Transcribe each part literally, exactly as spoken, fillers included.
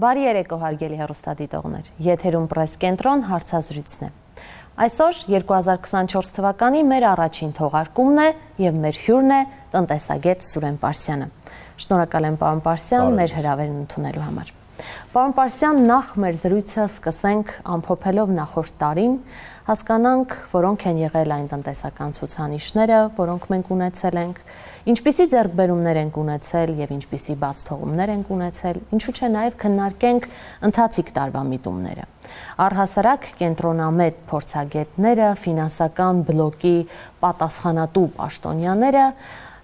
Բարի երեկո հարգելի հեռուստադիտողներ, եթերում պրես կենտրոն հարցազրույցն է։ Այսօր երկու հազար քսանչորս թվականի մեր առաջին թողարկումն է եւ մեր հյուրն է տնտեսագետ Սուրեն Պարսյանը։ Շնորհակալ եմ պարոն Պարսյան մեր հրավերն ընդունելու համար։ Պարոն Պարսյան, նախ մեր զրույցը սկսենք ամփոփելով նախորդ տարին, հասկանանք, որոնք են եղել այն տնտեսական ցուցանիշները, որոնք մենք ունեցել ենք, ինչպիսի ձեռքբերումներ ենք ունեցել եւ ինչպիսի բացթողումներ ենք ունեցել, ինչու՞ չէ նաեւ քննարկենք ընթացիկ տարվա միտումները։ Առհասարակ կենտրոնամետ փորձագետները, ֆինանսական բլոկի պատասխանատու պաշտոնյաները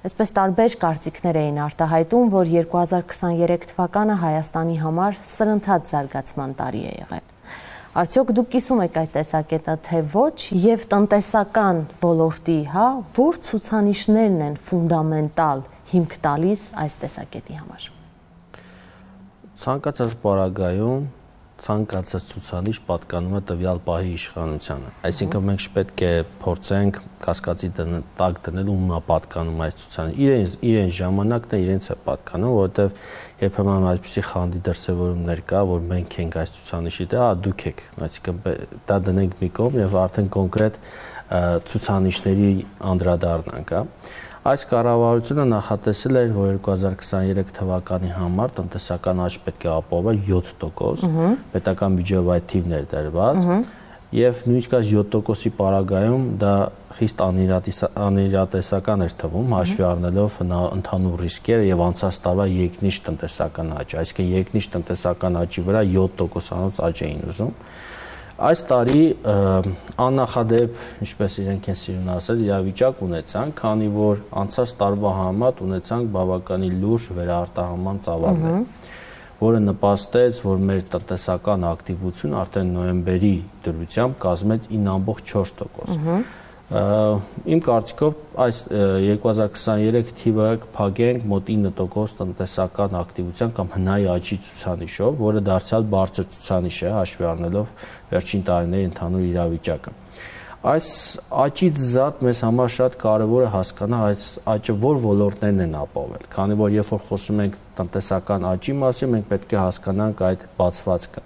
այսպես տարբեր կարծիքներ էին արտահայտում, որ երկու հազար քսաներեք թվականը Հայաստանի համար սրընթաց զարգացման տարի է եղել։ Արդյոք դուք կիսում եք այս տեսակետը, թե ոչ, եւ տնտեսական ոլորտի, հա, որ ցուցանիշներն են ֆունդամենտալ հիմք տալիս այս տեսակետի համար։ Ցանկացած պարագայում ցանկացած ցուցանիշ պատկանում է տվյալ պահի իշխանությանը։ Այսինքն մենք պետք է փորձենք կասկածի տակ դնել ում է պատկանում այս ցուցանիշը։ Իրենց իրեն ժամանակն է իրենց է պատկանում, որովհետև երբեմն այսպիսի խանդի դրսևորումներ կա, որ մենք ենք այս ցուցանիշի դե, հա դուք եք, այսինքն դա դնենք մի կողմ եւ արդեն կոնկրետ ցուցանիշների անդրադառնանք, հա։ Այս կառավարությունը նախատեսել էր, որ երկու հազար քսաներեք թվականի համար տնտեսական աճ պետք է ապահովել յոթ տոկոս, պետական բյուջեով այդ թիվն էր դրված, եւ նույնիսկ այս յոթ տոկոսի պարագայում դա խիստ անիրատեսական էր թվում, հաշվի առնելով ընդհանուր ռիսկերը եւ անցած տարվա երկնիշ տնտեսական աճ, այսինքն երկնիշ տնտեսական աճի վրա յոթ տոկոսանոց աճ էին ուզում։ Այս տարի աննախադեպ, ինչպես իրենք են սիրում ասել, իրավիճակ ունեցանք, քանի որ անցած տարվա համեմատ ունեցանք բավականին լուրջ վերարտահանման ծավալներ, որը նպաստեց, որ մեր տնտեսական ակտիվությունը արդեն նոյեմբերի դրությամբ կազմեց ինը ամբողջ չորս տոկոս։ Իմ կարծիքով այս երկու հազար քսաներեք թիվը կփակենք մոտ ինը տոկոս տնտեսական ակտիվության կամ հնայի աճի ցուցանիշով, որը դարձյալ բարձր ցուցանիշ է, հաշվի առնելով վերջին տարիների ընդհանուր իրավիճակը։ Այս աճից զատ մեզ համար շատ կարևոր է հասկանալ այս աճը որ ոլորտներն են ապահովել, քանի որ երբ որ խոսում ենք տնտեսական աճի մասին, մենք պետք է հասկանանք այդ բացվածքը։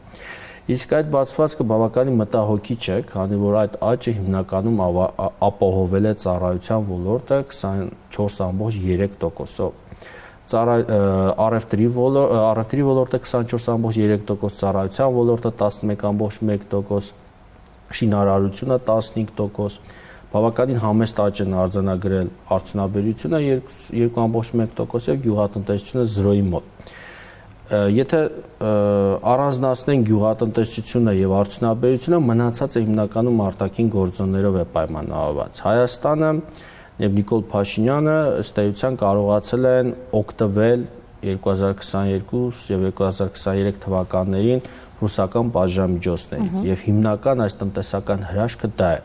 Իսկ այդ բացվածքը բավականին մտահոգիչ է, քանի որ այդ աճը հիմնականում ապահովել է ծառայության ոլորտը քսանչորս ամբողջ երեք տոկոսով։ Առևտրի ոլորտը քսանչորս ամբողջ երեք տոկոս, ծառայության ոլորտը տասնմեկ ամբողջ մեկ տոկոս, շինարարությունը տասնհինգ տոկոս, բավականին համեստ աճ են արձանագրել արդյունաբերությունը երկու ամբողջ մեկ տոկոս եւ գյուղատնտեսությունը զրոյի մոտ։ Եթե առանձնացնենք գյուղատնտեսությունը եւ արդյունաբերությունը, մնացած է հիմնականում արտաքին գործոններով է պայմանավորված։ Հայաստանը եւ Նիկոլ Փաշինյանը ըստ էության կարողացել են օգտվել երկու հազար քսաներկու եւ երկու հազար քսաներեք թվականներին ռուսական պատժամիջոցներից եւ հիմնական այս տնտեսական հրաշքը դա է։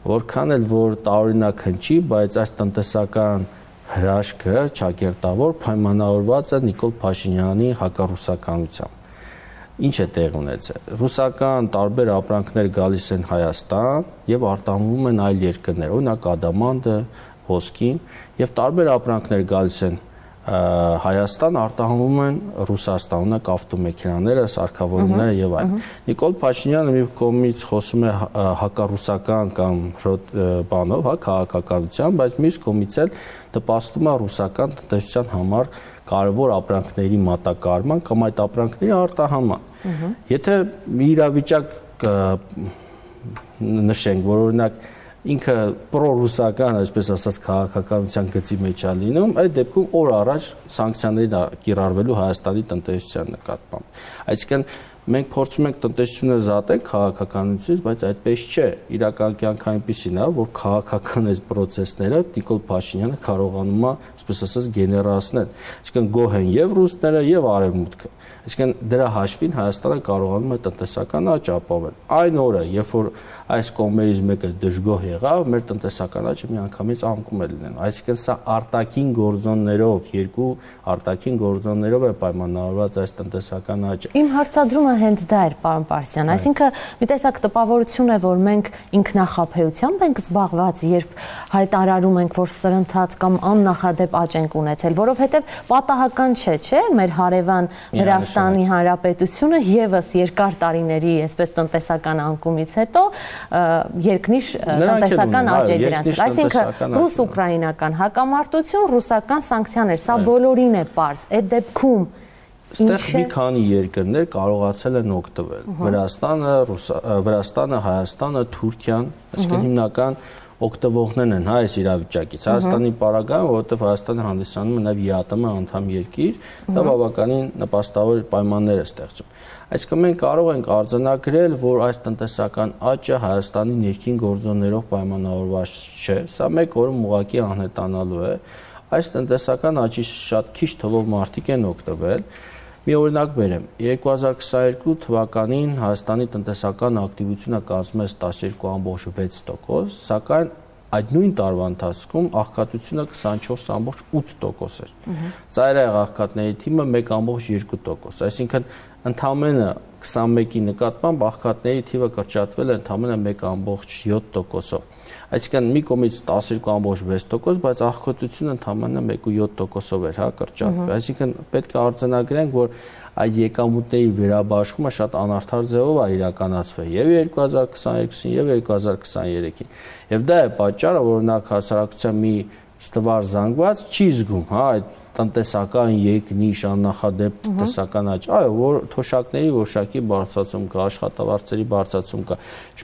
Որքան էլ որ տարօրինակ հնչի, բայց այս տնտեսական հրաշքը ճակերտավոր պայմանավորված է Նիկոլ Փաշինյանի հակառուսականությամբ։ Ինչ է տեղ ունեցել։ Ռուսական տարբեր ապրանքներ գալիս են Հայաստան եւ արտահանվում են այլ երկրներ, օրինակ ադամանդը, ոսկին, եւ տարբեր ապրանքներ գալիս են Հայաստան, արտահանվում են Ռուսաստան, օրինակ ավտոմեքենաները, սարքավորումները եւ այլն։ Նիկոլ Փաշինյանը մի կողմից խոսում է հակառուսական կամ բանով, հա, քաղաքականությամբ, բայց մյուս կողմից էլ նպաստում է ռուսական տնտեսության համար կարևոր ապրանքների մատակարարման կամ այդ ապրանքների արտահանման։ Եթե մի իրավիճակ նշենք, որ օրինակ ինքը պրոռուսական, այսպես ասած, քաղաքականության գծի մեջ է լինում, այդ դեպքում օր առաջ սանկցիաների կիրառվելու Հայաստանի տնտեսության նկատմամբ։ Այսինքն մենք փորձում ենք տնտեսությունը զատել քաղաքականությունից, բայց այդպես չէ։ Իրական կյանքը այնպեսին է, որ քաղաքական այս process-ները Նիկոլ Փաշինյանը կարողանում է, այսպես ասած, գեներացնել։ Այսինքն գոհ են եւ ռուսները եւ արևմուտքը։ Այսինքն դրա հաշվին Հայաստանը կարողանում է տնտեսական աճ ապահովել։ Այն օրը, երբ որ այս կողմերից մեկը դժգոհ եղավ, մեր տնտեսական աճը միանգամից անկում է լինելու։ Այսինքն սա արտաքին գործոններով, երկու արտաքին գործոններով է պայմանավորված այս տնտեսական աճը։ Իմ հարցադրումը հենց դա էր, պարոն Պարսյան, այսինքն մի տեսակ տպավորություն է, որ մենք ինքնախաբեությամբ ենք զբաղված, երբ հայտարարում ենք, որ սրընթաց կամ աննախադեպ աճ ենք ունեցել, որովհետև պատահական չէ, չէ՞, մեր հարևան Վրաստանի Հանրապետությունը եւս երկար տարիների, այսպես տնտեսական անկումից հետո երկնիշ տնտեսական աճ է գրանցել, այսինքն ռուս-ուկրաինական հակամարտություն, ռուսական սանկցիաներ, սա բոլորին է պարզ, այդ դեպքում Այստեղ մի քանի երկրներ կարողացել են օգտվել։ Վրաստանը, Վրաստանը, Հայաստանը, Թուրքիան, այսինքն հիմնական օգտվողներն են հա այս իրավիճակից։ Հայաստանի պարագայում, որովհետև Հայաստանը հանդիսանում է նաև ԵԱՏՄ անդամ երկիր, դա բավականին նպաստավոր պայմաններ է ստեղծում։ Այսինքն մենք կարող ենք արձանագրել, որ այս տնտեսական աճը Հայաստանի ներքին գործոններով պայմանավորված չէ, սա մեկ օրում ուղղակի անհետանալու է։ Այս տնտեսական աճի շատ քիչ թվով մարդիկ են օգտվել։ Մի օրինակ բերեմ, երկու հազար քսաներկու թվականին Հայաստանի տնտեսական ակտիվությունը կազմում էր տասներկու ամբողջ վեց տոկոս, սակայն այդ նույն տարվա ընթացքում աղքատությունը քսանչորս ամբողջ ութ տոկոս էր։ Ծայրահեղ աղքատների թիվը մեկ ամբողջ երկու տոկոս, այսինքն ընդամենը քսանմեկի նկատմամբ աղքատների թիվը կրճատվել է ընդամենը մեկ ամբողջ յոթ տոկոսով։ Այսինքն մի կողմից տասներկու ամբողջ վեց տոկոս, բայց աղքատությունը ընդամենը մեկ ամբողջ յոթ տոկոսով էր, հա, կրճատվել։ Այսինքն պետք է արձանագրենք, որ այդ եկամուտների վերաբաշխումը շատ անարդար ձևով է իրականացվել եւ երկու հազար քսաներկուսին եւ երկու հազար քսաներեքին։ Եւ դա է պատճառը, որ օրինակ հասարակության մի ստվար զանգված չի զգում, հա, այդ տնտեսական երկնիշ աննախադեպ տնտեսական աճ, այո, որ թոշակների որոշակի բարձրացում կա, աշխատավարձերի բարձրացում կա։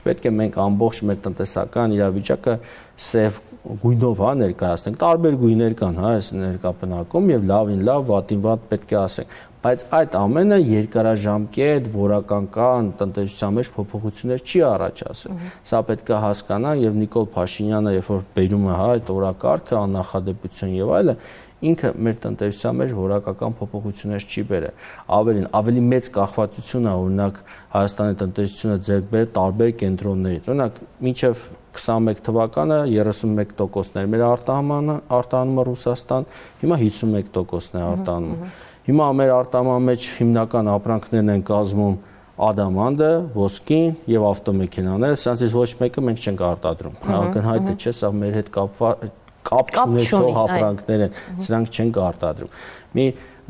Պետք է մենք ամբողջ մեր տնտեսական իրավիճակը սև գույնով հա ներկայացնենք, տարբեր գույներ կան հա այս ներկայապնակում եւ լավին լավ, վատին վատ պետք է ասենք, բայց այդ ամենը երկարաժամկետ որակական տնտեսության մեջ փոփոխություններ չի առաջացել։ Սա պետք է հասկանան եւ Նիկոլ Փաշինյանը, երբ որ բերում է հա այդ օրակարգը, աննախադեպություն եւ այլը, ինքը մեր տնտեսության մեջ որակական փոփոխություններ չի բերել։ Ավելին, ավելի մեծ կախվածություն է օրինակ Հայաստանի տնտեսությունը ձեռք բերել տարբեր կենտրոններից։ Օրինակ, մինչև քսանմեկ թվականը երեսունմեկ տոկոսն էր մեր արտահանումը, արտահանումը Ռուսաստան, հիմա հիսունմեկ տոկոսն է արտահանումը։ Հիմա մեր արտահանման մեջ հիմնական ապրանքներն են կազմում ադամանդը, ոսկին եւ ավտոմեքենաները, սրանցից ոչ մեկը մենք չենք արտադրում։ Ակնհայտ է, չէ՞, սա մեր հետ կապված կապ չունեցող ապրանքներ են, սրանք չենք արտադրում։ Մի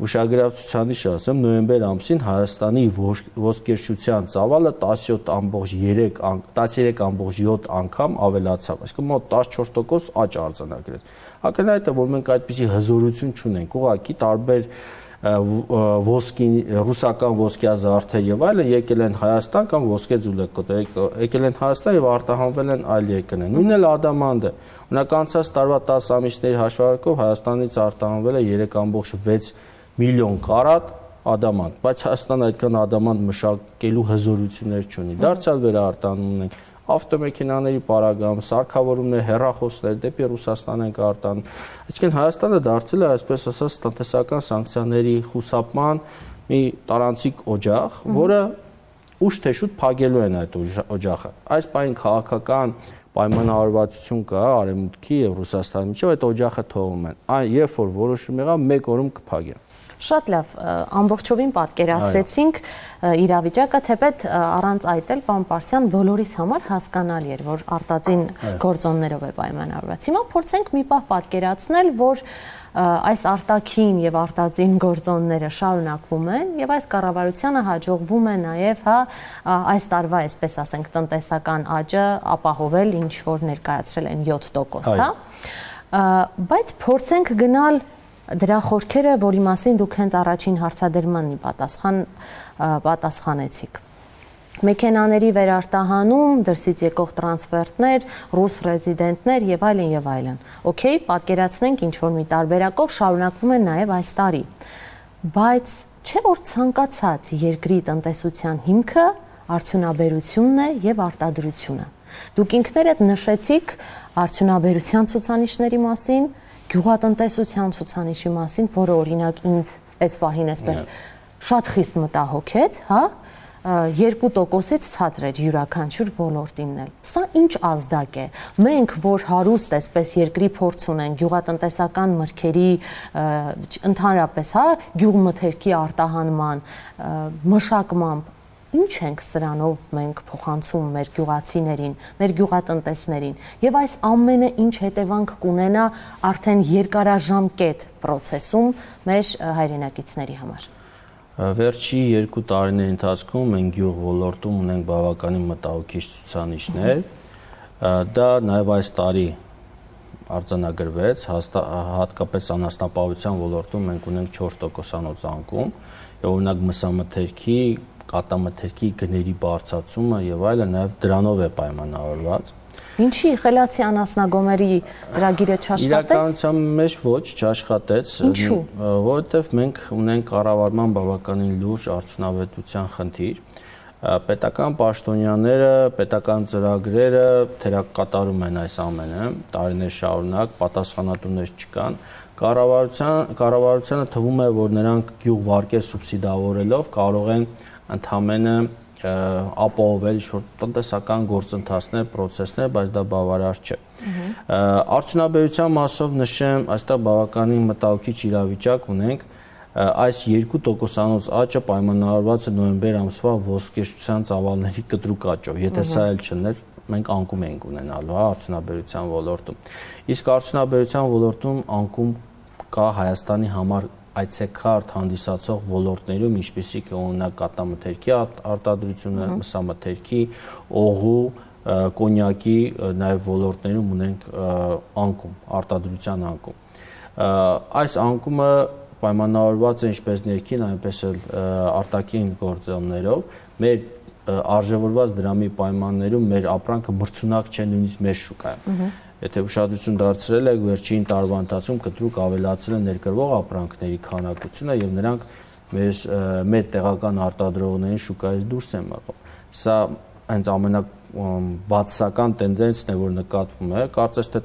ուշագրավցուցանիշ ասեմ, նոյեմբեր ամսին Հայաստանի ոսկերչության ծավալը տասնյոթ ամբողջ յոթ անգամ ավելացավ, այսինքն մոտ տասնչորս տոկոս աճ արձանագրեց։ Ակնհայտ է, որ մենք այդպիսի հզորություն չունենք, ուղղակի տարբեր ոսկի ռուսական ոսկեազարդեր եւ այլն եկել են Հայաստան կամ ոսկե ձուլեկոտ եկել են Հայաստան եւ արտահանվել են այլ երկրներ։ Նույնն էլ ադամանդը։ Օրինակ անցած տարվա տասը ամիսների հաշվարկով Հայաստանից արտահանվել է երեք ամբողջ վեց միլիոն կարատ ադամանդ, բայց Հայաստանը այդքան ադամանդ մշակելու հզորություններ չունի։ Դարձյալ վերարտանում ունենք ավտոմեքենաների պարագայում, սարքավորումներ, հեռախոսներ դեպի Ռուսաստան են արտանում։ Այսինքն Հայաստանը դարձել է, այսպես ասած, տնտեսական սանկցիաների խուսափման մի տարանցիկ օջախ, որը ուշ թե շուտ փակելու են այդ օջախը։ Այս պահին քաղաքական պայմանավորվածություն կա Արևմուտքի եւ Ռուսաստանի միջեւ, այդ օջախը թողում են։ Այն երբ որ որոշում եղավ, մեկ օրում կփակեն։ Շատ լավ, ամբողջովին պատկերացրեցինք իրավիճակը, թեպետ առանց այդ էլ, պարոն Պարսյան, բոլորիս համար հասկանալի էր, որ արտածին գործոններով է պայմանավորված։ Հիմա փորձենք մի պահ պատկերացնել, որ այս արտաքին եւ արտածին գործոնները շարունակվում են եւ այս կառավարությանը հաջողվում է նաեւ հա այս տարվա, այսպես ասենք, տնտեսական աճը ապահովել, ինչ որ ներկայացրել են յոթ տոկոս, հա։ Բայց փորձենք գնալ դրա խորքերը, որի մասին դուք հենց առաջին հարցադրմանն պատասխան պատասխանեցիք։ Մեքենաների վերարտահանում, դրսից եկող տրանսֆերտներ, ռուս ռեզիդենտներ եւ այլն եւ այլն։ Okay, պատկերացնենք ինչ որ մի տարբերակով շարունակվում են նաեւ այս տարի։ Բայց չէ՞ որ ցանկացած երկրի տնտեսության հիմքը արդյունաբերությունն է եւ արտադրությունը։ Դուք ինքներդ նշեցիք արդյունաբերության ցուցանիշների մասին, գյուղատնտեսության ցուցանիշի մասին, որը օրինակ ինձ այս պահին այսպես շատ խիստ մտահոգեց, հա, երկու տոկոսից ցածր էր յուրաքանչյուր ոլորտին էլ։ Սա ինչ ազդակ է։ Մենք, որ հարուստ այսպես երկրի փորձ ունենք գյուղատնտեսական մրգերի ընդհանրապես, հա, գյուղմթերքի արտահանման, մշակմամբ, ինչ ենք սրանով մենք փոխանցում մեր գյուղացիներին, մեր գյուղատնտեսներին, եւ այս ամենը ինչ հետևանք կունենա արդեն երկարաժամկետ process-ում մեր հայրենակիցների համար։ Վերջի երկու տարիների ընթացքում մենք գյուղ ոլորտում ունենք բավականին մտահոգիչ ցուցանիշներ, դա նաև այս տարի արձանագրվեց, հատկապես անասնապահության ոլորտում մենք ունենք չորս տոկոսանոց անկում, եւ օրինակ մսամթերքի, կատամթերքի գների բարձրացումը եւ այլը նաև դրանով է պայմանավորված։ Ինչի խելացի անասնագոմերի ծրագիրը չաշխատեց։ Իրականության մեջ ոչ չաշխատեց, որովհետև մենք ունենք կառավարման բավականին լուրջ արդյունավետության խնդիր։ Պետական պաշտոնյաները, պետական ծրագրերը թերակատարում են այս ամենը, տարիներ շարունակ պատասխանատուներ չկան։ Կառավարության կառավարությանը թվում է, որ նրանք գյուղ վարկեր սուբսիդավորելով կարող են ընդհանրապես ապահովել ինչ-որ տնտեսական գործընթացներ, process-ներ, բայց դա բավարար չէ։ Արդյունաբերության մասով նշեմ, այստեղ բավականին մտահոգիչ իրավիճակ ունենք, այս երկու տոկոսանոց աճը պայմանավորված է նոյեմբեր ամսվա ոսկեշության ծավալների կտրուկ աճով, եթե սա էլ չներ, մենք անկում ենք ունենալու, հա, արդյունաբերության ոլորտում։ Իսկ արդյունաբերության ոլորտում անկում կա Հայաստանի համար այցեքարտ հանդիսացող ոլորտներում, ինչպիսիք է օրինակ կատամթերքի արտադրությունը, մսամթերքի, օղու, կոնյակի, նաև ոլորտներում ունենք անկում, արտադրության անկում։ Այս անկումը պայմանավորված է ինչպես ներքին, այնպես էլ արտաքին գործոններով, մեր արժևորված դրամի պայմաններում մեր ապրանքը մրցունակ չէ նույնիսկ մեր շուկայում։ Եթե ուշադրություն դարձրել եք, վերջին տարվա ընթացքում կտրուկ ավելացել են ներկրվող ապրանքների քանակությունը եւ նրանք մեր մեր տեղական արտադրողներին շուկայից դուրս են մղում։ Սա հենց ամենաբացական տենդենսն է, որ նկատվում է, կարծես թե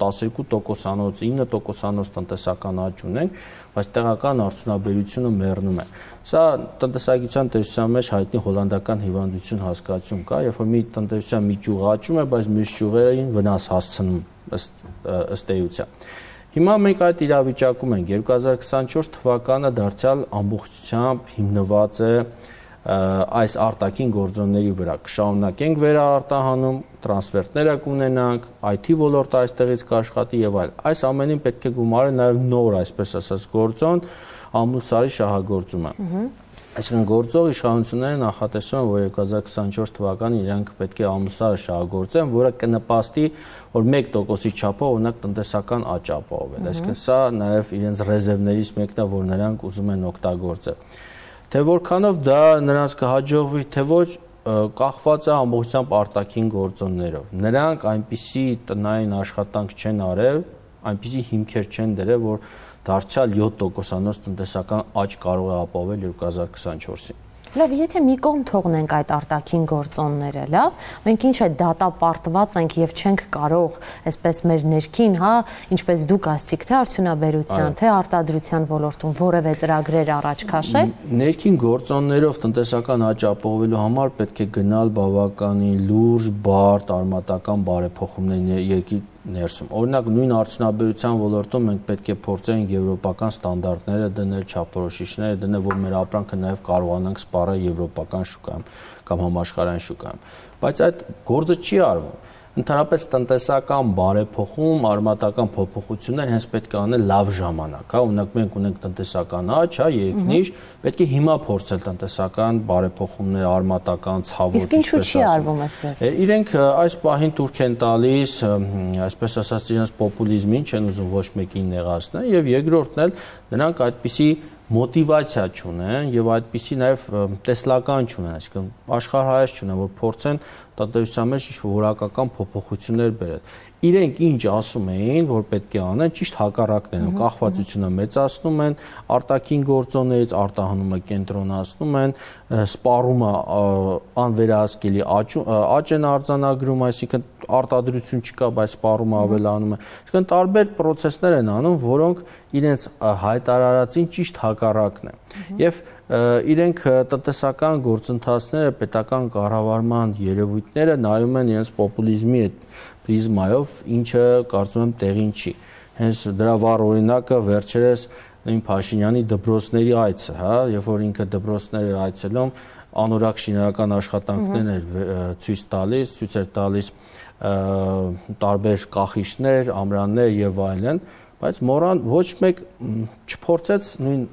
տասներկու տոկոսանոց, ինը տոկոսանոց տնտեսական աճ ունենք, բայց տեղական արդյունաբերությունը մեռնում է։ Սա տնտեսագիտության տեսության մեջ հայտնի հոլանդական հիվանդություն հասկացություն կա, երբ որ մի տնտեսության մի ճյուղ աճում է, բայց մյուս ճյուղերին վնաս հասցնում ըստ էության։ Հիմա մենք այդ իրավիճակում ենք, երկու հազար քսանչորս թվականը դարձյալ ամբողջությամբ հիմնված է այս արտաքին գործոնների վրա, կշարունակենք վերարտահանում, տրանսֆերտները կունենանք, այ թի ոլորտը այստեղից կաշխատի եւ այլ։ Այս ամենին պետք է գումարել նաեւ նոր, այսպես ասած, գործոն, ամուսարի շահագործումը։ Այսինքն գործող իշխանությունները նախատեսում են, որ երկու հազար քսանչորս թվականին իրենք պետք է ամուսարը շահագործեն, որը կնպաստի, որ մեկ տոկոսի չափով օրինակ տնտեսական աճ ապահովել։ Այսինքն սա նաեւ իրենց ռեզերվներից մեկն է, որ նրանք ուզում են օգտագործել։ Թե որքանով դա նրանց կհաջողվի, թե ոչ, կախված է ամբողջությամբ արտաքին գործոններով։ Նրանք այնպիսի տնային աշխատանք չեն արել, այնպիսի հիմքեր չեն դրել, որ դարձյալ յոթ տոկոսանոց տնտեսական աճ կարող է ապահովել երկու հազար քսանչորսին։ Լավ, եթե մի կողմ թողնենք այդ արտաքին գործոնները, լավ, մենք ինչ է դատապարտված ենք եւ չենք կարող այսպես մեր ներքին, հա, ինչպես դուք ասցիք, թե արդյունաբերության, թե արտադրության ոլորտում որևէ ծրագրեր առաջ քաշել։ Ներքին գործոններով տնտեսական աճ ապահովելու համար պետք է գնալ բավականին լուրջ, բարդ, արմատական բարեփոխումներ երկրի ներսում։ Օրինակ նույն արդյունաբերության ոլորտում մենք պետք է փորձենք եվրոպական ստանդարտները դնել, չափորոշիչները դնել, որ մեր ապրանքը նաև կարողանանք սպառել եվրոպական շուկայում կամ համաշխարհային շուկայում։ Բայց այդ գործը չի արվում։ Ընդհանրապես տնտեսական բարեփոխում, արմատական փոփոխություններ հենց պետք է անել լավ ժամանակ, հա, օրինակ մենք ունենք տնտեսական աճ, հա, երկնիշ, պետք է հիմա փորձել տնտեսական բարեփոխումներ, արմատական ցավոտ, իսկ ինչու՞ չի արվում այսպես։ Իրենք այս պահին թուրք են տալիս, այսպես ասած, իրենց պոպուլիզմին չեն ուզում ոչ մեկին նեղացնել, եւ երկրորդն էլ նրանք այդպիսի մոտիվացիա չունեն եւ այդպիսի նաեւ տեսլական չունեն, այսինքն աշխարհայաց չունեն, որ փորձեն տնտեսության մեջ որակական փոփոխություններ բերել։ Իրենք ինչ ասում էին, որ պետք է անեն, ճիշտ հակառակն են, կախվածությունը մեծացնում են, արտաքին գործոններից արտահանումը կենտրոնացնում են, սպառումը անվերահսկելի աճ են արձանագրում, այսինքն արտադրություն չկա, բայց սպառումը ավելանում է։ Այսինքն տարբեր process-ներ են անում, որոնք իրենց հայտարարածին ճիշտ հակառակն է։ Եվ իրենք տնտեսական գործընթացները, պետական կառավարման երևույթները նայում են իրենց պոպուլիզմի պրիզմայով, ինչը կարծում եմ տեղին չի։ Հենց դրա վառ օրինակը վերջերս նույն Փաշինյանի դպրոցների այցը, հա, երբ որ ինքը դպրոցները այցելում անորակ շինարարական աշխատանքներ էր ցույց տալիս, ցույց էր տալիս տարբեր կախիչներ, ամրաններ եւ այլն, բայց մորան ոչ մեկ չփորձեց նույն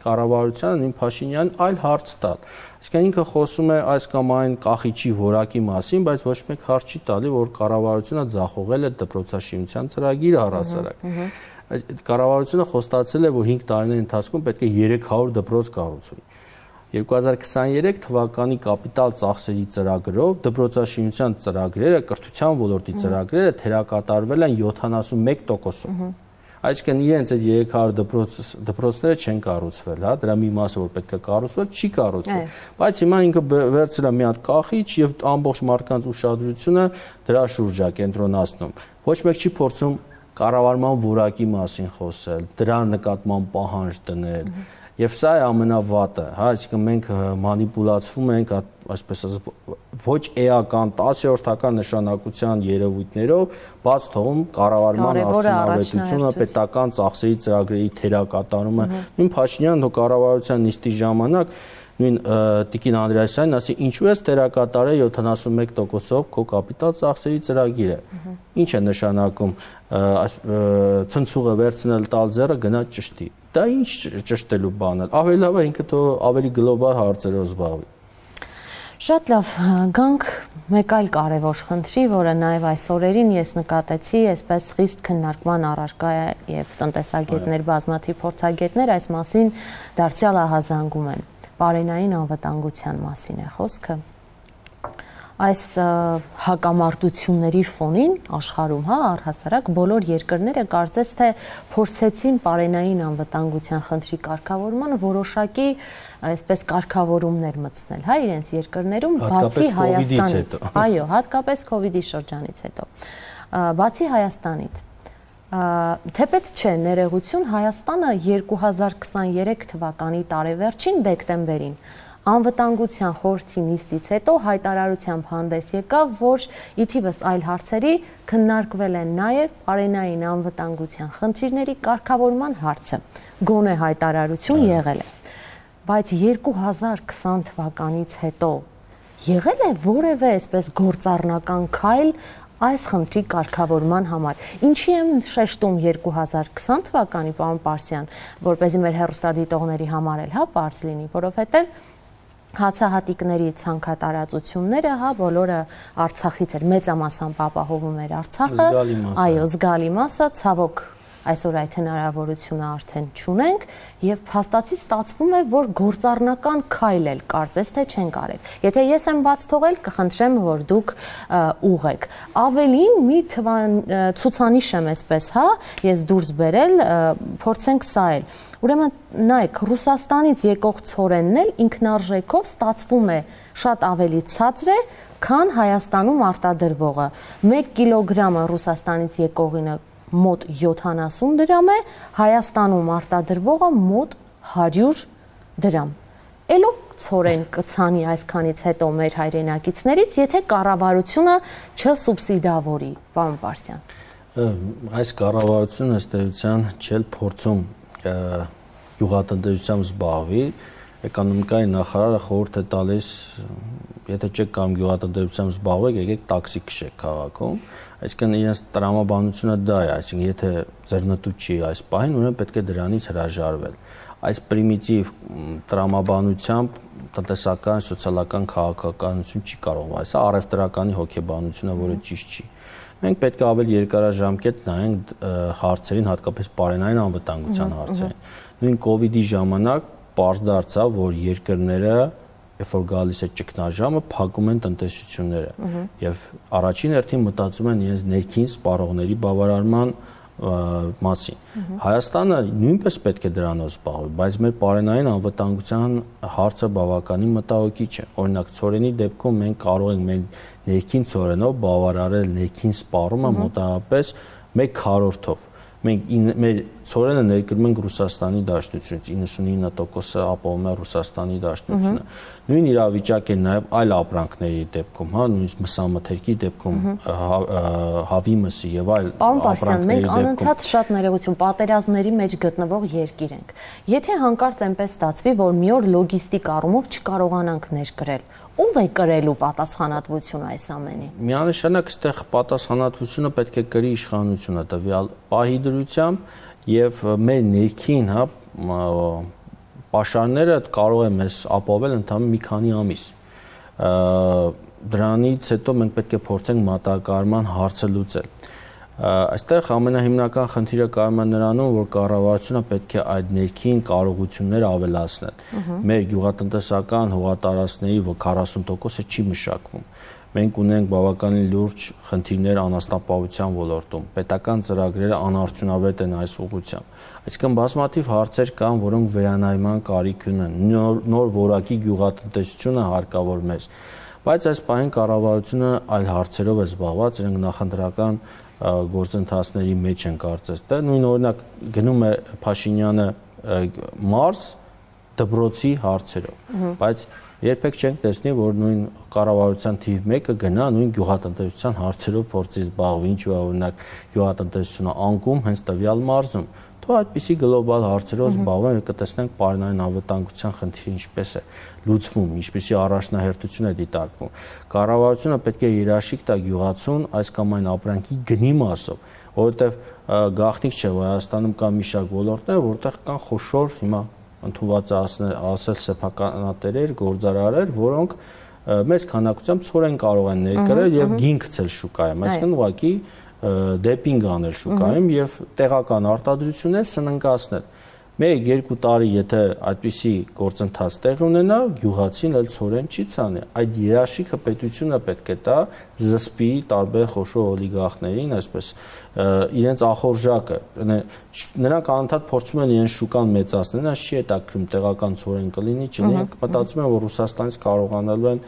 կառավարությանը, նույն Փաշինյանին այլ հարց տալ։ Այսինքն ինքը խոսում է այս կամ այն կախիչի որակի մասին, բայց ոչ մեկ հարց չի տալի, որ կառավարությունը ձախողել է դպրոցաշինության ծրագիրը առհասարակ։ Կառավարությունը խոստացել է, որ հինգ տարիների ընթացքում պետք է երեք հարյուր դպրոց կառուցվի։ երկու հազար քսաներեք թվականի կապիտալ ծախսերի ծրագրով դպրոցաշինության ծրագրերը, կրթության ոլորտի ծրագրերը թերակատարվել են յոթանասունմեկ տոկոսով։ Այսինքն իրենց այդ երեք հարյուր դպրոց դպրոցները չեն կառուցվել, հա, դրա մի մասը որ պետք է կառուցվել, չի կառուցվել։ Բայց հիմա ինքը վերցրել է մի հատ կախիչ եւ ամբողջ մարդկանց ուշադրությունը դրա շուրջ է կենտրոնացնում։ Ոչ մեկ չի փորձում կառավարման որակի մասին խոսել, դրա նկատմամբ պահանջ դնել։ Եվ սա է ամենավատը, հա, այսինքն մենք մանիպուլացվում ենք, այսպես ասած, ոչ էական տասնորդական նշանակության երևույթներով, բաց թողում կառավարման արդյունավետությունը, պետական ծախսերի ծրագրերի թերակատարումը։ Նույն Փաշինյանն ու կառավարության նիստի ժամանակ նույն Տիկին Անդրեասյանն ասի, ինչու ես թերակատարել յոթանասունմեկ տոկոսով քո կապիտալ ծախսերի ծրագիրը։ Ինչ է նշանակում ցնցուղը վերցնել տալ ձեռը գնա ճշտի։ Դա ինչ ճշտելու բան է։ Ավելի լավ է ինքը թող ավելի գլոբալ հարցերով զբաղվի։ Շատ լավ, գանք մեկ այլ կարևոր խնդրի, որը նաև այս օրերին ես նկատեցի, այսպես խիստ քննարկման առարկա է եւ տնտեսագետներ, բազմաթիվ փորձագետներ այս մասին դարձյալ ահազանգում են։ Պարենային անվտանգության մասին է խոսքը։ Այս հակամարտությունների ֆոնին աշխարհում, հա, առհասարակ բոլոր երկրները կարծես թե փորձեցին պարենային անվտանգության խնդրի կարգավորման որոշակի այսպես կարգավորումներ մտցնել, հա, իրենց երկրներում, բացի Հայաստանից։ Այո, հատկապես COVID-ի շրջանից հետո։ Բացի Հայաստանից թեպետ չէ ներողություն, Հայաստանը երկու հազար քսաներեք թվականի տարեվերջին դեկտեմբերին Անվտանգության խորհրդի նիստից հետո հայտարարությամբ հանդես եկավ, որ ի թիվս այլ հարցերի քննարկվել են նաև պարենային անվտանգության խնդիրների կարգավորման հարցը։ Գոնե հայտարարություն եղել է։ Բայց երկու հազար քսան թվականից հետո եղել է որևէ այսպես գործառնական քայլ այս խնդրի կարգավորման համար։ Ինչի եմ շեշտում երկու հազար քսան թվականի, պարոն Պարսյան, որպեսզի մեր հեռուստադիտողների համար էլ հա պարզ լինի, որովհետև հացահատիկների ցանկատարածությունները, հա, բոլորը Արցախից էր, մեծամասամբ ապահովում էր Արցախը, այո, զգալի մասը, ցավոք այսօր այդ հնարավորությունը արդեն չունենք եւ փաստացի ստացվում է, որ գործառնական քայլ էլ կարծես թե չեն կարել։ Եթե ես եմ բաց թողել, կխնդրեմ, որ դուք ուղեք։ Ավելին մի ցուցանիշ եմ այսպես, հա, ես դուրս բերել, փորձենք սա էլ։ Ուրեմն նայեք, Ռուսաստանից եկող ցորենն էլ ինքնարժեքով ստացվում է շատ ավելի ցածր է, քան Հայաստանում արտադրվողը։ մեկ կիլոգրամը Ռուսաստանից եկողինը մոտ յոթանասուն դրամ է, Հայաստանում արտադրվողը մոտ հարյուր դրամ։ Էլով ցորեն կցանի այսքանից հետո մեր հայրենակիցներից, եթե կառավարությունը չսուբսիդավորի, պարոն Պարսյան։ Այս կառավարությունը ըստ էության չէ փորձում գյուղատնտեսությամբ զբաղվի, էկոնոմիկայի նախարարը խորհուրդ է տալիս, եթե չեք կամ գյուղատնտեսությամբ զբաղվեք, եկեք տաքսի քշեք քաղաքում, այսինքն իրենց տրամաբանությունը դա է, այսինքն եթե ձեռնտու չի այս պահին, ուրեմն պետք է դրանից հրաժարվել։ Այս պրիմիտիվ տրամաբանությամբ տնտեսական, սոցիալական քաղաքականություն չի կարող, այս առևտրականի հոգեբանությունը, որը ճիշտ չի։ Մենք պետք է ավելի երկարաժամկետ նայենք հարցերին, հատկապես պարենային անվտանգության հարցերին։ Նույն COVID-ի ժամանակ պարզ դարձավ, որ երկրները, երբ որ գալիս է ճգնաժամը, փակում են տնտեսությունները եւ առաջին հերթին մտածում են իրենց ներքին սպառողների բավարարման մասին։ Հայաստանը նույնպես պետք է դրանով զբաղվի, բայց մեր պարենային անվտանգության հարցը բավականին մտահոգիչ է։ Օրինակ, ցորենի դեպքում մենք կարող ենք մեր ներքին ցորենով բավարարել ներքին սպառումը մոտավորապես մեկ քառորդով։ Մենք մեր ցորենը ներկրում ենք Ռուսաստանի Դաշնությունից, իննսունինը տոկոսը ապահովում է Ռուսաստանի Դաշնությունը։ Նույն իրավիճակ է նաև այլ ապրանքների դեպքում, հա, նույնիսկ մսամթերքի դեպքում, հավի մսի եւ այլ ապրանքների դեպքում։ Մենք անընդհատ շատ ներողություն պատերազմների մեջ գտնվող երկիր ենք։ Եթե հանկարծ այնպես ստացվի, որ մի օր լոգիստիկ առումով չկարողանանք ներկրել, ով է կրելու պատասխանատվությունը այս ամենի։ Միանշանակ այստեղ պատասխանատվությունը պետք է կրի իշխանությունը տվյալ պահի դրությամբ եւ մեր ներքին, հա, պաշարները կարող է մեզ ապահովել ընդհանուր մի քանի ամիս։ Դրանից հետո մենք պետք է փորձենք մատակարարման հարցը լուծել։ Այստեղ ամենահիմնական խնդիրը կայանում է նրանում, որ կառավարությունը պետք է այդ ներքին կարողությունները ավելացնել։ Մեր գյուղատնտեսական հողատարածքների քառասուն տոկոսը չի մշակվում։ Մենք ունենք բավականին լուրջ խնդիրներ անասնապահության ոլորտում։ Պետական ծրագրերը անարդյունավետ են այս ուղղությամբ։ Այսինքն բազմաթիվ հարցեր կան, որոնք վերանայման կարիք ունեն։ Նոր որակի գյուղատնտեսությունը հարկավոր մեզ։ Բայց այս պահին կառավարությունը այլ հարցերով է զբաղված, իրենք նախընտրական գործընթացների մեջ են կարծես թե նույն օրինակ գնում է Փաշինյանը մարզ դպրոցի հարցերով, բայց երբեք չենք տեսնի, որ նույն կառավարության թիվ մեկը գնա նույն գյուղատնտեսության հարցերով փորձի զբաղվի, ինչու է օրինակ գյուղատնտեսությունը անկում հենց տվյալ մարզում։ Թող այդպիսի գլոբալ հարցերով զբաղվեն, կտեսնենք պարենային անվտանգության խնդիրը ինչպես է լուծվում, ինչպիսի առաջնահերթություն է դիտարկվում։ Կառավարությունը պետք է երաշխիք տա գյուղացուն այս կամ այն ապրանքի գնի մասով, որովհետև գաղտնիք չէ, որ Հայաստանում կա մի շարք ոլորտներ, որտեղ կան խոշոր հիմա ընդունված ասել սեփականատերեր, գործարարներ, որոնք մեծ քանակությամբ ցորեն կարող են ներկրել եւ գին գցել շուկայում, այսինքն ուղղակի դեպինգ անել շուկայում եւ տեղական արտադրություններ սննկացնել։ Մեկ-երկու տարի եթե այդպիսի գործընթաց տեղ ունենա, գյուղացին էլ ցորեն չի ցանի։ Այդ երաշխիքը պետությունը պետք է տա զսպի տարբեր խոշոր օլիգարխներին, այսպես իրենց ախորժակը։ Նրանք անընդհատ փորձում են իրենց շուկան մեծացնել, այս չի հետաքրքրում տեղական ցորեն կլինի, չլինի, մտածում են, որ Ռուսաստանից կարողանալու են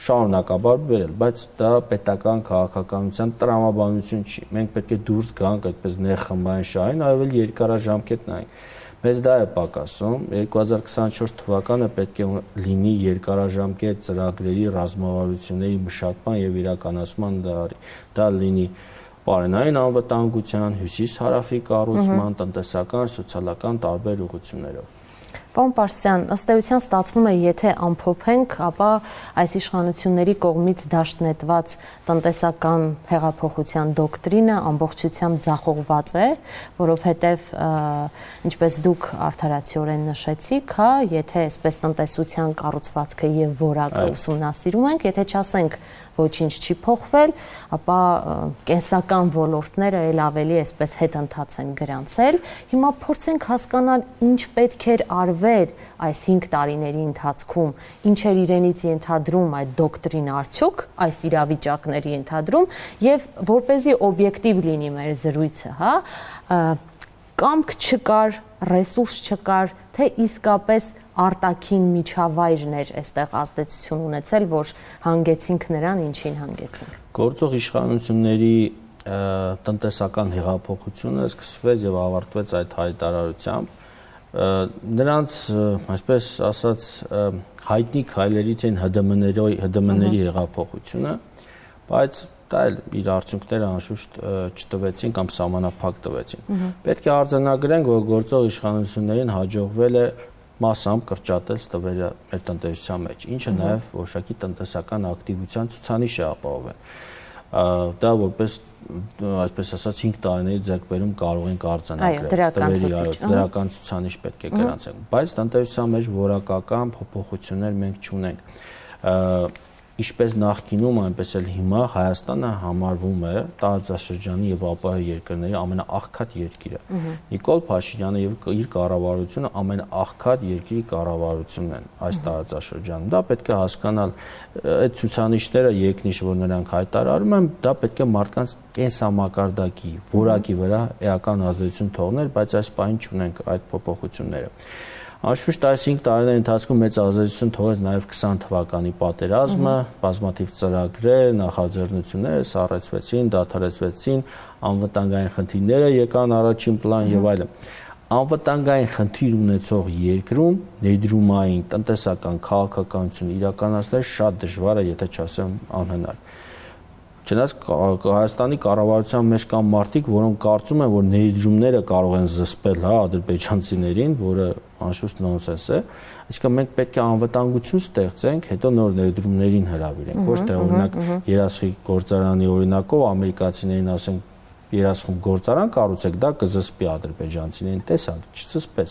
շարունակաբար բերել, բայց դա պետական քաղաքականության տրամաբանություն չի։ Մենք պետք է դուրս գանք այդպես ներխմբային շահին, ավելի երկարաժամկետ նայենք։ Մեզ դա է պակասում, երկու հազար քսանչորս թվականը պետք է լինի երկարաժամկետ ծրագրերի ռազմավարությունների մշակման եւ իրականացման դարի։ Դա լինի պարենային անվտանգության, հյուսիս-հարավի կառուցման, տնտեսական, սոցիալական տարբեր ուղղություններով։ Պարոն Պարսյան, ըստ էության ստացվում է, եթե ամփոփենք, ապա այս իշխանությունների կողմից դաշնետված տնտեսական հեղափոխության դոկտրինը ամբողջությամբ ձախողված է, որովհետև ինչպես դուք արդարացիորեն նշեցիք, հա, եթե այսպես տնտեսության կառուցվածքը եւ որակը ուսումնասիրում ենք, եթե չասենք ոչինչ չի փոխվել, ապա կենսական ոլորտները ել ավելի այսպես հետընթաց են գրանցել։ Հիմա փորձենք հասկանալ ինչ պետք էր արվել այս հինգ տարիների ընթացքում, ինչ էր իրենից ենթադրում այդ դոկտրինը արդյոք, այս իրավիճակների ենթադրում եւ որպեսզի օբյեկտիվ լինի մեր զրույցը, հա, կամք չկար, ռեսուրս չկար, թե իսկապես արտաքին միջավայրներ այստեղ ազդեցություն ունեցել, որ հանգեցինք նրան, ինչին հանգեցինք։ Գործող իշխանությունների տնտեսական հեղափոխությունը սկսվեց եւ ավարտվեց այդ հայտարարությամբ։ Նրանց, այսպես ասած, հայտնի քայլերից են ՀԴՄ-ների հեղափոխությունը, բայց դա էլ իր արդյունքները անշուշտ չտվեցին կամ սահմանափակ տվեցին։ Պետք է արձանագրենք, որ գործող իշխանություններին հաջողվել է մասամբ կրճատել ստվերը մեր տնտեսության մեջ, ինչը նաև որոշակի տնտեսական ակտիվության ցուցանիշ է ապահովել։ Դա որպես այսպես ասած հինգ տարիների ձեռքբերում կարող ենք արձանագրել, դրական ցուցանիշ պետք է գրանցենք, բայց տնտեսության մեջ որակական փոփոխություններ մենք չունենք։ Ինչպես նախկինում, այնպես էլ հիմա Հայաստանը համարվում է տարածաշրջանի եւ ապահով երկրների ամենաաղքատ երկիրը։ Նիկոլ Փաշինյանը եւ իր կառավարությունը ամենաաղքատ երկրի կառավարությունն են այս տարածաշրջանում։ Դա պետք է հասկանալ, այդ ցուցանիշները երկնիշ, որ նրանք հայտարարում են, դա պետք է մարդկանց կենսամակարդակի, որակի վրա էական ազդեցություն թողներ, բայց այս պահին չունենք այդ փոփոխությունները։ Անշուշտ այս հինգ տարիների ընթացքում մեծ ազդեցություն թողեց նաև քսան թվականի պատերազմը, բազմաթիվ ծրագրեր, նախաձեռնություններ սառեցվեցին, դադարեցվեցին, անվտանգային խնդիրները եկան առաջին պլան եւ այլն։ Անվտանգային խնդիր ունեցող երկրում ներդրումային տնտեսական քաղաքականություն իրականացնել շատ դժվար է, եթե չասեմ անհնար։ Չնայած Հայաստանի կառավարության մեջ կան մարդիկ, որոնք կարծում են, որ ներդրումները կարող են զսպել հա ադրբեջանցիներին, որը անշուշտ նոնսենս է, այսինքն մենք պետք է անվտանգություն ստեղծենք, հետո նոր ներդրումներին հրավիրենք, ոչ թե օրինակ երասխի գործարանի օրինակով ամերիկացիներին ասենք երասխում գործարան կառուցեք, դա կզսպի ադրբեջանցիներին, տեսանք, չզսպեց։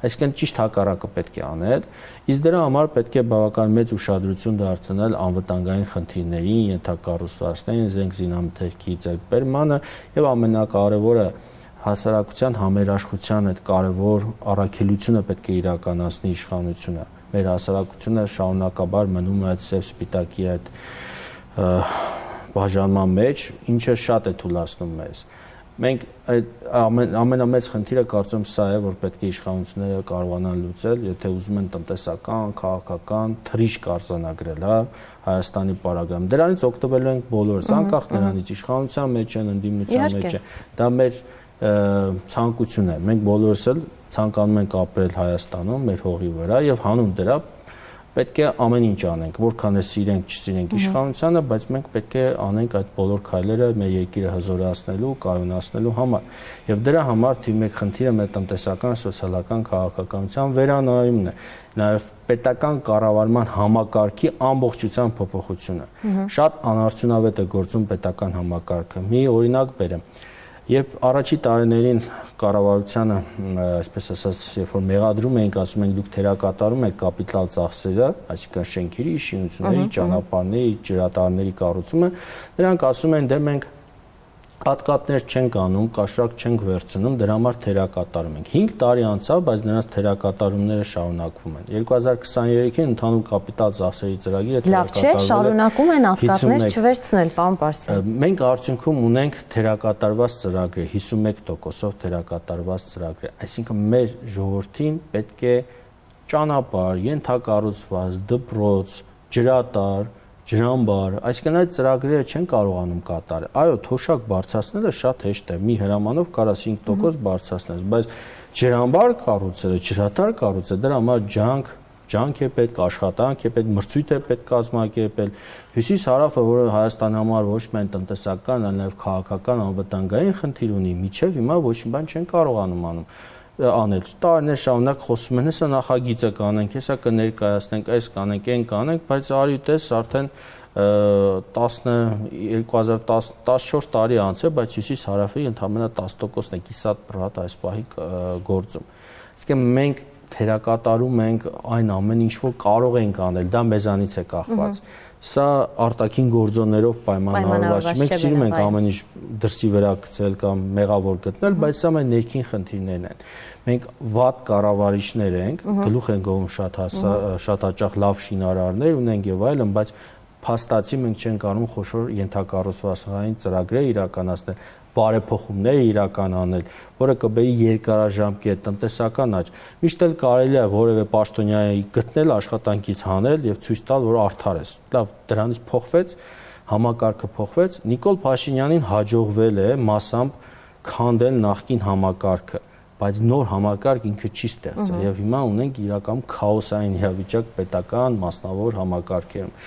Այսինքն ճիշտ հակառակը պետք է անել, իսկ դրա համար պետք է բավական մեծ ուշադրություն դարձնել անվտանգային խնդիրներին, ենթակառուցվածքներին, զենք զինամթերքի ձեռքբերմանը եւ ամենակարևորը հասարակության համերաշխության այդ կարևոր առաքելությունը պետք է իրականացնի իշխանությունը։ Մեր հասարակությունը շարունակաբար մնում է այդ սև սպիտակի այդ բաժանման մեջ, ինչը շատ է թուլացնում մեզ։ Մենք ամեն, ամենամեծ խնդիրը կարծում սա է, որ պետք է իշխանությունները կարողանան լուծել, եթե ուզում են տնտեսական, քաղաքական թռիչք արձանագրել, հա, Հայաստանի պարագայում։ Դրանից օգտվելու ենք բոլորս, անկախ նրանից իշխանության մեջ են, ընդդիմության մեջ են։ Դա մեր ցանկությունն է։ Մենք բոլորս էլ ցանկանում ենք ապրել Հայաստանում, մեր հողի վրա եւ հանուն դրա պետք է ամեն ինչ անենք, որքան է սիրենք, չսիրենք իշխանությանը, բայց մենք պետք է անենք այդ բոլոր քայլերը մեր երկիրը հզորացնելու, կայունացնելու համար։ Եվ դրա համար թիվ մեկ խնդիրը մեր տնտեսական, սոցիալական, քաղաքականության վերանայումն է, նաև պետական կառավարման համակարգի ամբողջության փոփոխությունը։ Շատ անարդյունավետ է գործում պետական համակարգը։ Մի օրինակ բերեմ։ Երբ առաջի տարիներին կառավարությանը, այսպես ասած, երբ որ մեղադրում էինք, ասում ենք դուք թերակատարում եք կապիտալ ծախսերը, այսինքն շենքերի, շինությունների, ճանապարհների, ջրատարների կառուցումը, նրանք ասում են, դե մենք հատկատներ չենք անում, կաշառք չենք վերցնում, դրա համար թերակատարում ենք։ հինգ տարի անցավ, բայց նրանց թերակատարումները շարունակվում են։ երկու հազար քսաներեքին ընդհանուր կապիտալ ծախսերի ծրագիրը լավ չէ, շարունակում են հատկատներ չվերցնել, պարոն Պարսյան։ Մենք արդյունքում ունենք թերակատարված ծրագրեր, հիսունմեկ տոկոսով թերակատարված ծրագրեր, այսինքն մեր ժողովրդին պետք է ճանապարհ, ենթակառուցված, դպրոց, ջրատար, ջրամբար, այսինքն այդ ծրագրերը չեն կարողանում կատարել։ Այո, թոշակ բարձրացնելը շատ հեշտ է, մի հրամանով կարաս հինգ տոկոս բարձրացնես, բայց ջրամբար կառուցելը, ջրատար կառուցելը, դրա համար ջանք, ջանք է պետք, աշխատանք է պետք, մրցույթ է պետք կազմակերպել։ Հյուսիս-հարավը, որը Հայաստանի համար ոչ միայն տնտեսական, այլ նաև քաղաքական անվտանգային խնդիր ունի, միջև հիմա ոչ մի բան չեն կարողանում անում անել։ Տարիներ շարունակ խոսում են, հեսա նախագիծը կանենք, հեսա կներկայացնենք, այս կանենք, այն կանենք, բայց արի տես արդեն երկու հազար տասնչորս տարի անցել, բայց հյուսիս-հարավի ընդամենը տասը տոկոսն է կիսատ պրատ այս պահի գործում։ Այսինքն մենք թերակատարում ենք այն ամեն ինչ, որ կարող ենք անել, դա մեզանից է կախված։ Սա արտաքին գործոններով պայմանավորված չէ։ Մենք սիրում ենք ամեն ինչ դրսի վրա գցել կամ մեղավոր գտնել, բայց սա մեր ներքին խնդիրներն են։ Մենք վատ կառավարիչներ ենք, գլուխ են գովում շատ շատ հաճախ լավ շինարարներ ունենք եւ այլն, բայց փաստացի մենք չենք կարող խոշոր ենթակառուցվածքային ծրագրեր իրականացնել, բարեփոխումներ իրականանել, որը կբերի երկարաժամկետ տնտեսական աճ։ Միշտ էլ կարելի է որևէ պաշտոնյայի գտնել, աշխատանքից հանել եւ ցույց տալ, որ արդար ես։ Լավ, դրանից փոխվեց, համակարգը փոխվեց, Նիկոլ Փաշինյանին հաջողվել է մասամբ քանդել նախկին համակարգը, բայց նոր համակարգ ինքը չի ստեղծել եւ հիմա ունենք իրական քաոսային իրավիճակ պետական մասնավոր համակարգերում։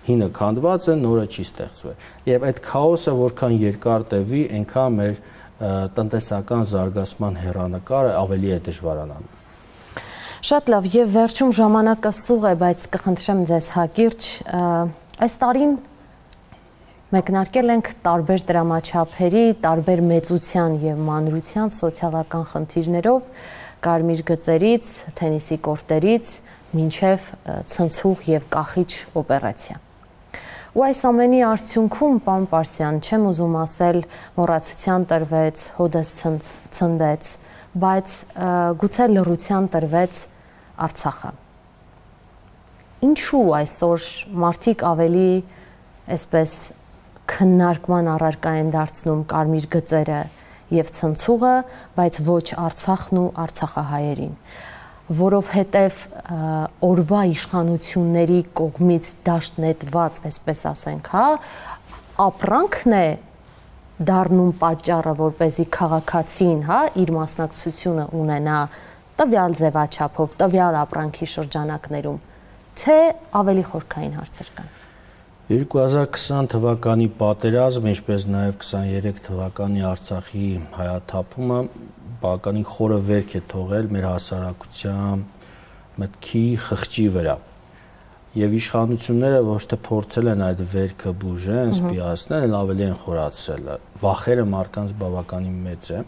Հինը քանդված է, նորը չի ստեղծվել։ Եվ այդ քաոսը որքան երկար տևի, այնքան մեր տնտեսական զարգացման հեռանկարը ավելի է դժվարանալու։ Շատ լավ, եւ վերջում ժամանակը սուղ է, բայց կխնդրեմ ձեզ հակիրճ, այս տարին մեկնարկել ենք տարբեր դրամաչափերի, տարբեր մեծության եւ մանրության սոցիալական խնդիրներով, կարմիր գծերից, թենիսի կորտերից, մինչև ցնցուղ եւ կախիչ օպերացիա։ Ու այս ամենի արդյունքում, պարոն Պարսյան, չեմ ուզում ասել, մոռացության տրվեց, հոդս ցնդեց, բայց գուցե լռության տրվեց Արցախը։ Ինչու այսօր մարդիկ ավելի այսպես քննարկման առարկա են դարձնում կարմիր գծերը եւ ցնցուղը, բայց ոչ Արցախն ու արցախահայերին, որովհետև օրվա իշխանությունների կողմից դաշտ նետված, այսպես ասենք, հա, ապրանքն է դառնում պատճառը, որպեսզի քաղաքացին, հա, իր մասնակցությունը ունենա տվյալ ձևաչափով, տվյալ ապրանքի շրջանակներում, թե ավելի խորքային հարցեր կան։ երկու հազար քսան թվականի պատերազմ, ինչպես նաև քսաներեք թվականի Արցախի հայաթափումը բավականին խորը վերք է թողել մեր հասարակության մտքի խղճի վրա։ Եվ իշխանությունները ոչ թե փորձել են այդ վերքը բուժեն, սպիացնել, այլ ավելի են խորացրել։ Վախերը մարդկանց բավականին մեծ է,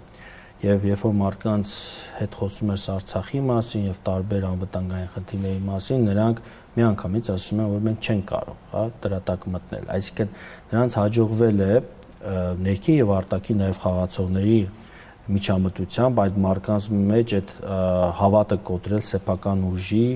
եւ երբ որ մարդկանց հետ խոսում ես Արցախի մասին եւ տարբեր անվտանգային խնդիրների մասին, նրանք միանգամից ասում են, որ մենք չենք կարող, հա, դրա տակ մտնել։ Այսինքն նրանց հաջողվել է ներքին եւ արտաքին նաեւ խաղացողների միջամտությամբ այդ մարդկանց մեջ այդ հավատը կոտրել սեփական ուժի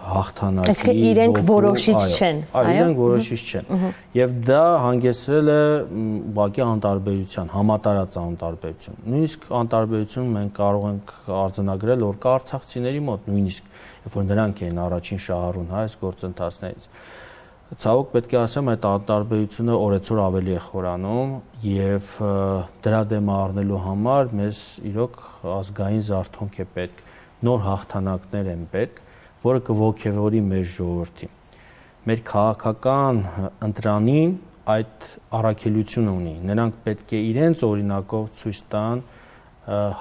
հաղթանակի։ Այսինքն իրենք որոշիչ չեն, այո, իրենք որոշիչ չեն։ Եվ դա հանգեցրել է ուղղակի անտարբերության, համատարած անտարբերություն։ Նույնիսկ անտարբերություն մենք կարող ենք արձանագրել, որ կա արցախցիների մոտ, նույնիսկ երբ որ նրանք էին առաջին շահառուն, հա, այս գործընթացներից։ Ցավոք պետք է ասեմ, այդ անտարբերությունը օրեցօր ավելի է խորանում եւ դրա դեմ առնելու համար մեզ իրոք ազգային զարթոնք է պետք, նոր հաղթանակներ են պետք, որը կողքեվորի մեր ժողովրդին։ Մեր քաղաքական ընտրանին այդ առաքելությունը ունի։ Նրանք պետք է իրենց օրինակով ցույց տան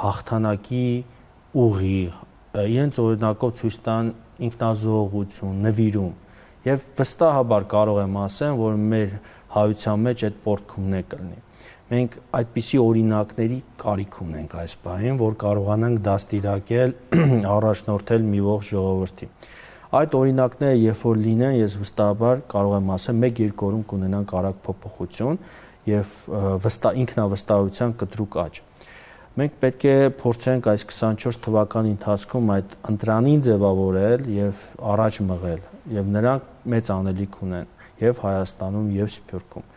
հաղթանակի ուղի, իրենց օրինակով ցույց տան ինքնազոհողություն, նվիրում։ Եվ վստահաբար կարող եմ ասեմ, որ մեր հայության մեջ այդ պորտքումն է կլինի։ Մենք այդպիսի օրինակների կարիք ունենք այս բանին, որ կարողանանք դաստիարակել, առաջնորդել մի ողջ ժողովրդի։ Այդ օրինակները երբ որ լինեն, ես վստահաբար կարող եմ ասել, մեկ-երկու օրում կունենանք արագ փոփոխություն եւ վստահ ինքնավստահության կտրուկ աճ։ Մենք պետք է փորձենք այս քսանչորս թվականի ընթացքում այդ ընտրանին ձևավորել եւ առաջ մղել, եւ նրանք մեծ անելիք ունեն եւ Հայաստանում եւ Սփյուռքում։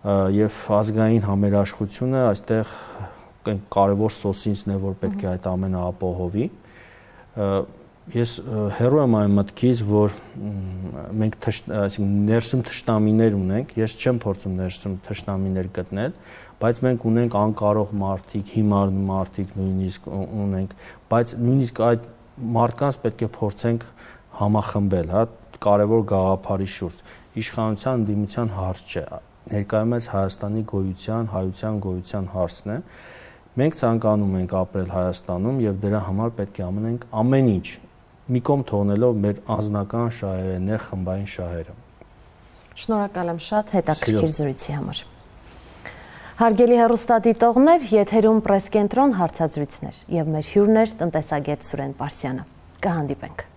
Եվ ազգային համերաշխությունը այստեղ կարևոր սոսինցն է, որ պետք է այդ ամենը ապահովի։ Ես հեռու եմ այն մտքից, որ մենք այսինքն ներսում թշնամիներ ունենք, ես չեմ փորձում ներսում թշնամիներ գտնել, բայց մենք ունենք անկարող մարդիկ, հիմար մարդիկ նույնիսկ ունենք, բայց նույնիսկ այդ մարդկանց պետք է փորձենք համախմբել, հա, կարևոր գաղափարի շուրջ։ Իշխանության ընդդիմության հարց չէ, ներկայումս Հայաստանի գոյության, հայության գոյության հարցն է։ Մենք ցանկանում ենք ապրել Հայաստանում եւ դրա համար պետք է անենք ամեն ինչ, մի կողմ թողնելով մեր անձնական շահերը, ներխմբային շահերը։ Շնորհակալ եմ շատ հետաքրքիր զրույցի համար։ Հարգելի հեռուստադիտողներ, եթերում պրեսկենտրոն հարցազրույցներ եւ մեր հյուրն էր տնտեսագետ Սուրեն Պարսյանը։ Կհանդիպենք։